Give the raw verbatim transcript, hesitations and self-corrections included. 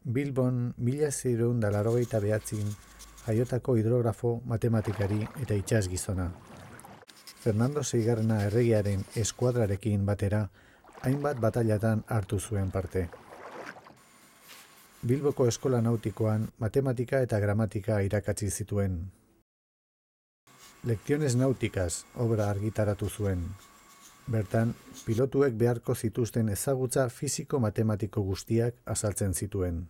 Bilbon mila seiehun eta laurogeita bederatzin jaiotako hidrografo, matematikari eta itsas gizona. Fernando seigarrena erregearen eskuadrarekin batera, hainbat batailatan hartu zuen parte. Bilboko eskola nautikoan matematika eta gramatika irakatsi zituen. Lecciones náuticas obra argitaratu zuen. Bertan, pilotuek beharko zituzten ezagutza fisiko-matematiko guztiak azaltzen zituen.